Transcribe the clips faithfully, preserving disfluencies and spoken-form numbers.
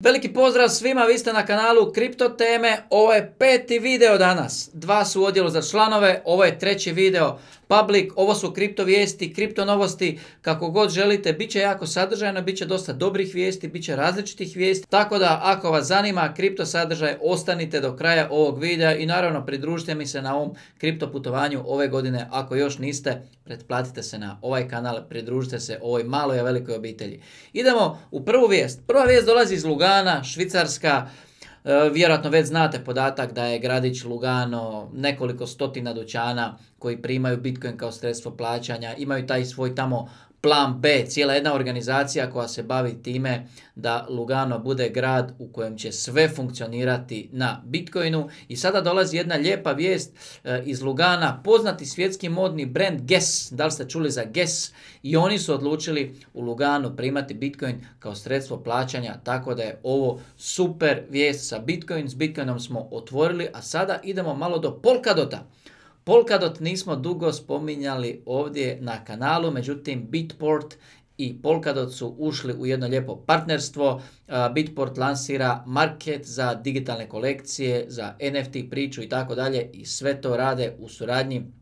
Veliki pozdrav svima, vi ste na kanalu Kripto teme, ovo je peti video danas, dva su u odjelu za članove, ovo je treći video public, ovo su kripto vijesti, kripto novosti, kako god želite, bit će jako sadržajno, bit će dosta dobrih vijesti, bit će različitih vijesti, tako da ako vas zanima kripto sadržaj, ostanite do kraja ovog videa i naravno pridružite mi se na ovom kripto putovanju ove godine, ako još niste, pretplatite se na ovaj kanal, pridružite se ovoj maloj a velikoj obitelji. Idemo u prvu vijest, prva vijest dolazi iz Lugana, Švicarska. E, vjerojatno već znate podatak da je gradić Lugano nekoliko stotina dućana koji primaju Bitcoin kao sredstvo plaćanja, imaju taj svoj tamo plan B, cijela jedna organizacija koja se bavi time da Lugano bude grad u kojem će sve funkcionirati na Bitcoinu. I sada dolazi jedna lijepa vijest e, iz Lugana, poznati svjetski modni brand Guess, da li ste čuli za Guess, i oni su odlučili u Luganu primati Bitcoin kao sredstvo plaćanja, tako da je ovo super vijest sa Bitcoin. S Bitcoinom smo otvorili, a sada idemo malo do Polkadota. Polkadot nismo dugo spominjali ovdje na kanalu, međutim Bitport i Polkadot su ušli u jedno lijepo partnerstvo. Bitport lansira market za digitalne kolekcije, za N F T priču i tako dalje, i sve to rade u suradnji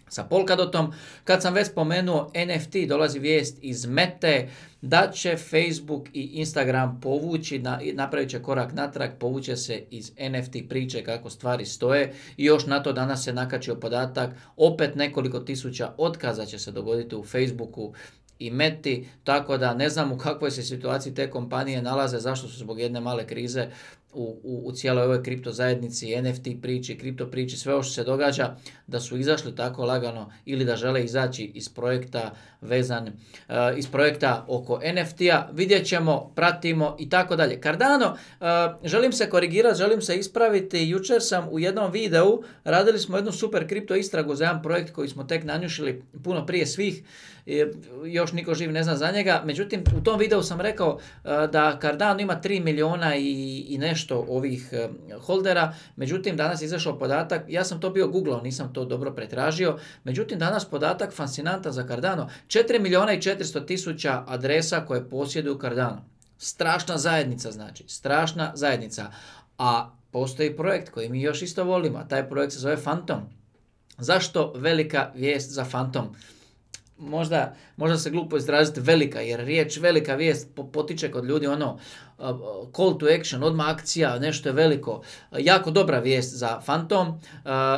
sa Polkadotom. Kad sam već spomenuo N F T, dolazi vijest iz Mete da će Facebook i Instagram povući, na, napravit će korak natrag, povuće se iz N F T priče kako stvari stoje, i još na to danas se nakačio podatak, opet nekoliko tisuća otkaza će se dogoditi u Facebooku i Meti, tako da ne znam u kakvoj se situaciji te kompanije nalaze, zašto su zbog jedne male krize u, u, u cijeloj ovoj kripto zajednici, N F T priči, kripto priči, sve ovo što se događa, da su izašli tako lagano ili da žele izaći iz projekta vezan, uh, iz projekta oko N F T-a, vidjet ćemo, pratimo i tako dalje. Cardano, uh, želim se korigirati, želim se ispraviti, jučer sam u jednom videu, radili smo jednu super kripto istragu za jedan projekt koji smo tek nanjušili puno prije svih, još niko živ ne zna za njega, međutim u tom videu sam rekao uh, da Cardano ima tri milijuna i, i nešto ovih uh, holdera, međutim danas je izašao podatak, ja sam to bio googlao, nisam to dobro pretražio, međutim danas podatak fascinantan za Cardano, četiri milijuna i četiristo tisuća adresa koje posjeduju Cardano. Strašna zajednica, znači, strašna zajednica. A postoji projekt koji mi još isto volimo, a taj projekt se zove Fantom. Zašto velika vijest za Fantom? Možda, možda se glupo izraziti velika, jer riječ velika vijest potiče kod ljudi ono uh, call to action, odmah akcija, nešto je veliko. Uh, jako dobra vijest za Fantom. Uh,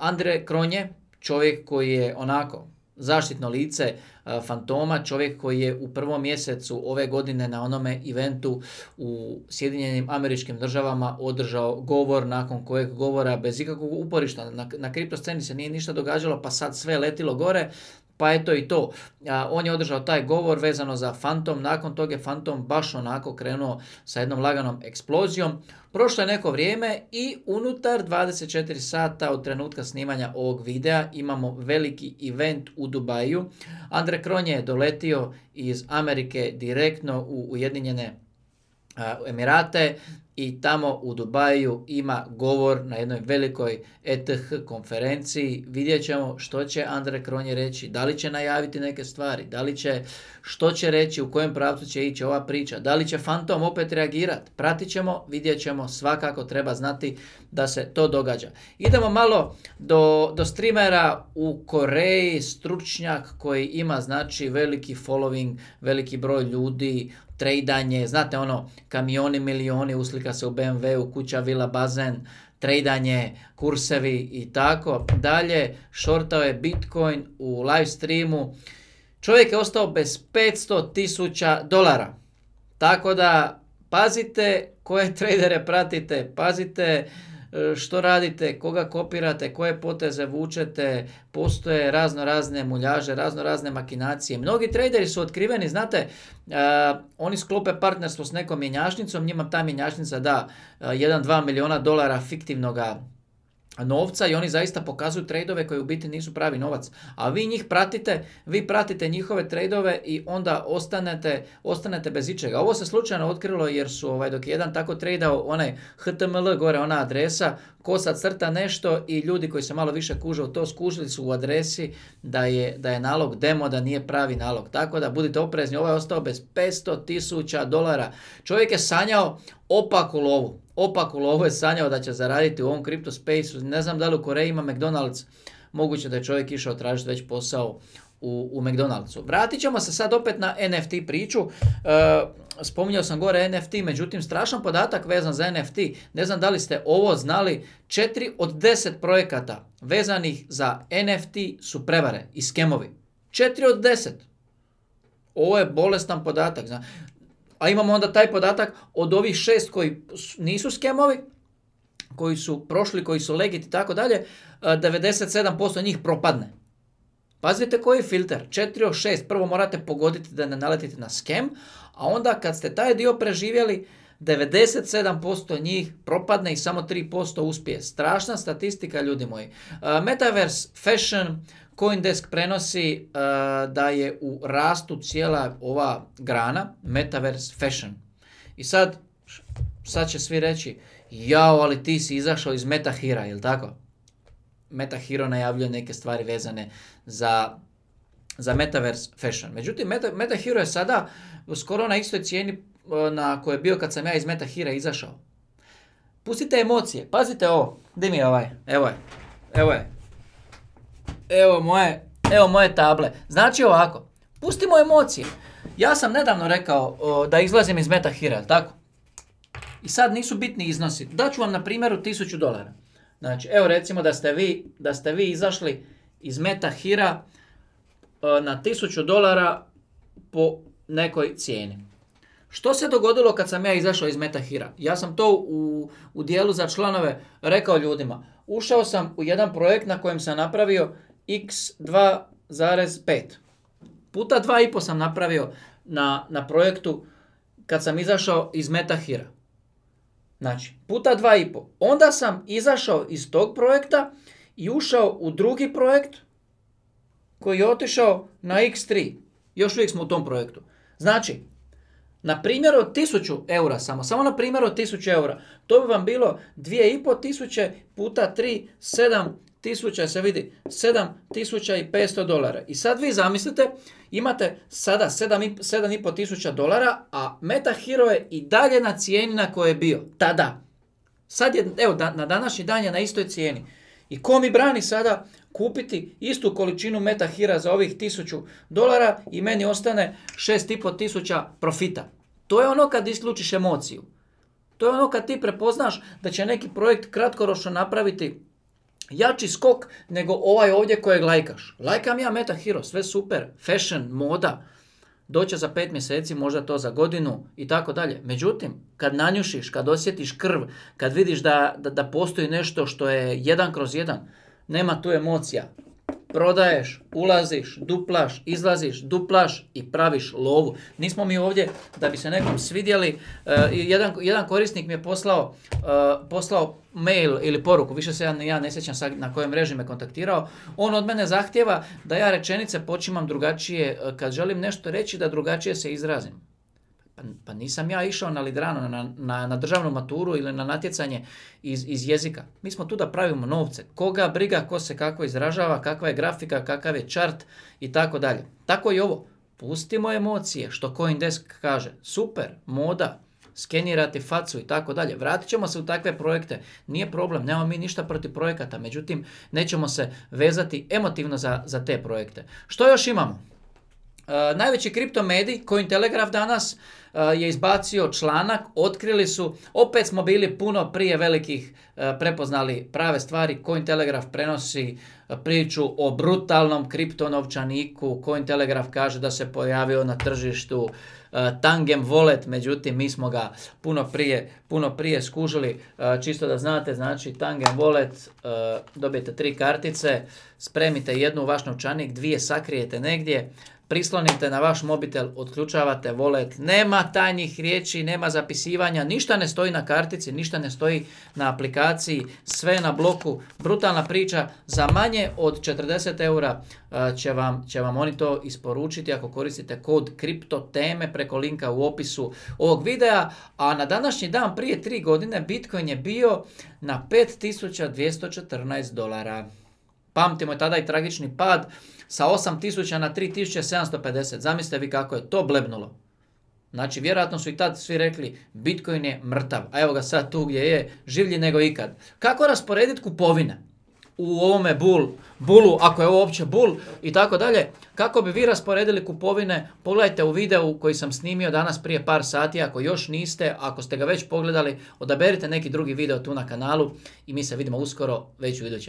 Andre Cronje, čovjek koji je onako zaštitno lice uh, Fantoma, čovjek koji je u prvom mjesecu ove godine na onome eventu u Sjedinjenim Američkim Državama održao govor, nakon kojeg govora bez ikakvog uporišta na, na kripto sceni se nije ništa događalo, pa sad sve letilo gore. Pa eto i to, a, on je održao taj govor vezano za Fantom, nakon toga je Fantom baš onako krenuo sa jednom laganom eksplozijom. Prošlo je neko vrijeme i unutar dvadeset četiri sata od trenutka snimanja ovog videa imamo veliki event u Dubaju. Andre Cronje je doletio iz Amerike direktno u Ujedinjene Emirate i tamo u Dubaju ima govor na jednoj velikoj E T H konferenciji. Vidjet ćemo što će Andre Cronje reći, da li će najaviti neke stvari, da li će, što će reći, u kojem pravcu će ići ova priča, da li će Fantom opet reagirati. Pratit ćemo, vidjet ćemo, svakako treba znati da se to događa. Idemo malo do, do streamera u Koreji, stručnjak koji ima znači veliki following, veliki broj ljudi, trejdanje, znate ono, kamioni, milioni, uslika se u B M W-u, kuća, vila, bazen, trejdanje, kursevi i tako dalje. Shortao je Bitcoin u live streamu. Čovjek je ostao bez petsto tisuća dolara. Tako da pazite koje tradere pratite, pazite što radite, koga kopirate, koje poteze vučete, postoje razno razne muljaže, razno razne makinacije. Mnogi traderi su otkriveni, znate, uh, oni sklope partnerstvo s nekom mjenjačnicom, njima ta mjenjačnica da jedan do dva milijuna dolara fiktivnoga novca i oni zaista pokazuju trejdove koji u biti nisu pravi novac. A vi njih pratite, vi pratite njihove trejdove i onda ostanete, ostanete bez ičega. Ovo se slučajno otkrilo jer su, ovaj, dok je jedan tako trejdao, onaj H T M L, gore ona adresa, ko sad crta nešto i ljudi koji se malo više kuže u to, skužili su u adresi da je, da je nalog demo, da nije pravi nalog. Tako da budite oprezni, ovaj je ostao bez petsto tisuća dolara. Čovjek je sanjao opaku lovu. Opaku lovu je sanjao da će zaraditi u ovom kripto spaceu. Ne znam da li u Koreji ima McDonald's. Moguće da je čovjek išao tražiti već posao u, u McDonald'su. Vratit ćemo se sad opet na N F T priču. E, spominjao sam gore N F T, međutim strašan podatak vezan za N F T. Ne znam da li ste ovo znali. četiri od deset projekata vezanih za N F T su prevare i skemovi. četiri od deset. Ovo je bolestan podatak. Zna. A imamo onda taj podatak od ovih šest koji nisu skemovi, koji su prošli, koji su legit i tako dalje, devedeset sedam posto njih propadne. Pazite koji je filter. četiri od šest. Prvo morate pogoditi da ne naletite na skem, a onda kad ste taj dio preživjeli, devedeset sedam posto njih propadne i samo tri posto uspije. Strašna statistika, ljudi moji. Metaverse Fashion, CoinDesk prenosi uh, da je u rastu cijela ova grana, Metaverse Fashion. I sad, sad će svi reći, jao, ali ti si izašao iz MetaHera, jel tako? MetaHero najavljuje neke stvari vezane za, za Metaverse Fashion. Međutim, Meta, MetaHero je sada skoro na istoj cijeni na kojoj je bio kad sam ja iz MetaHera izašao. Pustite emocije, pazite ovo, di mi je ovaj, evo je, evo je. Evo moje, evo moje table. Znači ovako, pustimo emocije. Ja sam nedavno rekao o, da izlazim iz MetaHera, tako? I sad nisu bitni iznosi. Daću vam na primjeru tisuću dolara. Znači, evo recimo da ste vi, da ste vi izašli iz MetaHera na tisuću dolara po nekoj cijeni. Što se dogodilo kad sam ja izašao iz MetaHera? Ja sam to u, u dijelu za članove rekao ljudima. Ušao sam u jedan projekt na kojem sam napravio iks dva zarez pet. Puta dva i pol sam napravio na, na projektu kad sam izašao iz MetaHera. Znači, puta dva i pol. Onda sam izašao iz tog projekta i ušao u drugi projekt koji je otišao na iks tri. Još uvijek smo u tom projektu. Znači, na primjer od tisuću eura samo, samo na primjer od tisuću eura, to bi vam bilo dvije i pol tisuće puta tri, sedam tisuća, se vidi, sedam tisuća petsto dolara. I sad vi zamislite, imate sada sedam i pol tisuća dolara, a MetaHero je i dalje na cijeni na kojoj je bio tada. Sad je, evo, da, na današnji dan je na istoj cijeni. I ko mi brani sada kupiti istu količinu MetaHera za ovih tisuću dolara i meni ostane šest i pol tisuća profita. To je ono kad isključiš emociju. To je ono kad ti prepoznaš da će neki projekt kratkoročno napraviti jači skok nego ovaj ovdje kojeg lajkaš. Lajkam ja MetaHero, sve super, fashion, moda, doće za pet mjeseci, možda to za godinu i tako dalje. Međutim, kad nanjušiš, kad osjetiš krv, kad vidiš da, da, da postoji nešto što je jedan kroz jedan, nema tu emocija. Prodaješ, ulaziš, duplaš, izlaziš, duplaš i praviš lovu. Nismo mi ovdje da bi se nekom svidjeli. Uh, jedan, jedan korisnik mi je poslao, uh, poslao mail ili poruku, više se ja, ja ne sjećam sad na kojoj mreži me kontaktirao. On od mene zahtjeva da ja rečenice počimam drugačije, uh, kad želim nešto reći da drugačije se izrazim. Pa, pa nisam ja išao na Lidrano, na, na, na državnu maturu ili na natjecanje iz, iz jezika. Mi smo tu da pravimo novce. Koga briga, ko se kako izražava, kakva je grafika, kakav je chart i tako dalje. Tako i ovo. Pustimo emocije, što CoinDesk kaže. Super, moda, skenirati facu i tako dalje. Vratit ćemo se u takve projekte. Nije problem, nemamo mi ništa protiv projekata. Međutim, nećemo se vezati emotivno za, za te projekte. Što još imamo? Uh, najveći kripto medij, Cointelegraph danas, uh, je izbacio članak, otkrili su, opet smo bili puno prije velikih uh, prepoznali prave stvari. Cointelegraph prenosi uh, priču o brutalnom kriptonovčaniku. Cointelegraph kaže da se pojavio na tržištu uh, Tangem Wallet, međutim mi smo ga puno prije, puno prije skužili. Uh, čisto da znate, znači Tangem Wallet, uh, dobijete tri kartice, spremite jednu u vaš novčanik, dvije sakrijete negdje, prislonite na vaš mobitel, otključavate wallet, nema tajnih riječi, nema zapisivanja, ništa ne stoji na kartici, ništa ne stoji na aplikaciji, sve je na bloku, brutalna priča, za manje od četrdeset eura će vam, će vam oni to isporučiti ako koristite kod kriptoteme preko linka u opisu ovog videa, a na današnji dan prije tri godine Bitcoin je bio na pet tisuća dvjesto četrnaest dolara. Pamtimo tada i tragični pad sa osam tisuća na tri tisuće sedamsto pedeset. Zamislite vi kako je to blebnulo. Znači, vjerojatno su i tad svi rekli Bitcoin je mrtav, a evo ga sad tu gdje je, življi nego ikad. Kako rasporediti kupovine u ovome bull, bullu, ako je ovo uopće bull i tako dalje? Kako bi vi rasporedili kupovine? Pogledajte u videu koji sam snimio danas prije par sati. Ako još niste, ako ste ga već pogledali, odaberite neki drugi video tu na kanalu i mi se vidimo uskoro već u idućem.